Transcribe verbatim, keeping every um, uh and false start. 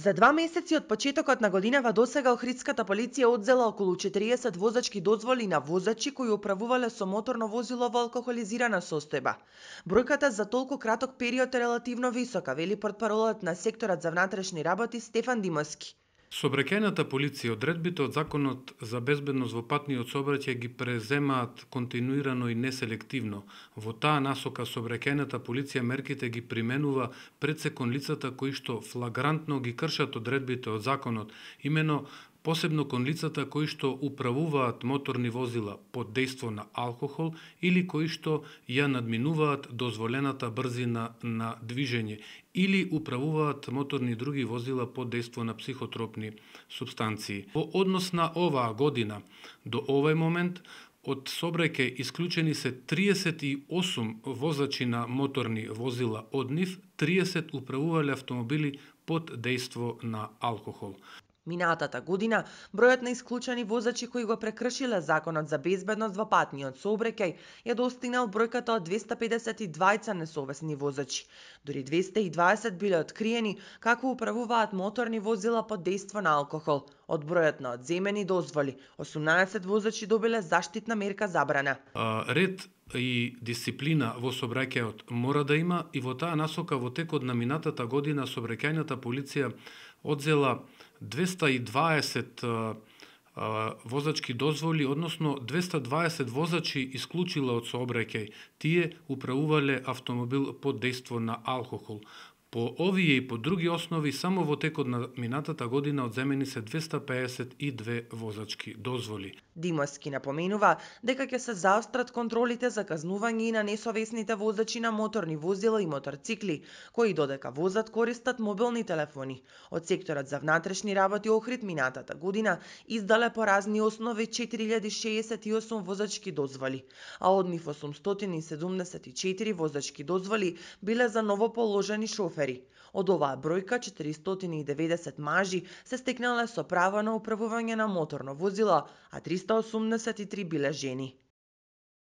За два месеци од почетокот на годинава досега Охридската полиција одзела околу четириесет возачки дозволи на возачи кои управувале со моторно возило во алкохолизирана состојба. Бројката за толку краток период е релативно висока, вели портпаролот на секторот за внатрешни работи Стефан Димовски. Сообраќајната полиција одредбите од Законот за безбедност во патниот сообраќај ги преземаат континуирано и неселективно. Во таа насока сообраќајната полиција мерките ги применува пред се кон лицата кои што флагрантно ги кршат одредбите од законот, имено посебно кон лицата кои што управуваат моторни возила под дејство на алкохол или кои што ја надминуваат дозволената брзина на движење или управуваат моторни и други возила под дејство на психотропни супстанции. Во однос на оваа година, до овој момент, од сообраќај исклучени се триесет и осум возачи на моторни возила, од нив триесет управувале автомобили под дејство на алкохол. Минатата година, бројот на исклучени возачи кои го прекршиле Законот за безбедност во патниот сообраќај ја достигнал бројката од двесте педесет и двајца несовесни возачи. Дури двесте и дваесет биле откриени како управуваат моторни возила под дејство на алкохол. Од бројот на одземени дозволи, осумнаесет возачи добиле заштитна мерка забрана. А, ред и дисциплина во сообраќајот мора да има и во таа насока во текот на минатата година сообраќајната полиција одзела двесте и дваесет а, а, возачки дозволи, односно двесте и дваесет возачи исклучила од сообраќај. Тие управувале автомобил под дејство на алкохол. По овие и по други основи, само во текот на минатата година одземени се двесте пеесет и две возачки дозволи. Димовски напоменува дека ќе се заострат контролите за казнување и на несовесните возачи на моторни возила и моторцикли, кои додека возат користат мобилни телефони. Од секторот за внатрешни работи Охрид минатата година издале по разни основи четири илјади шеесет и осум возачки дозволи, а од нив осумстотини и седумдесет и четири возачки дозволи биле за новоположени шофери. Од оваа бројка, четиристотини и деветдесет мажи се стекнале со право на управување на моторно возило, а триста осумдесет и три биле жени.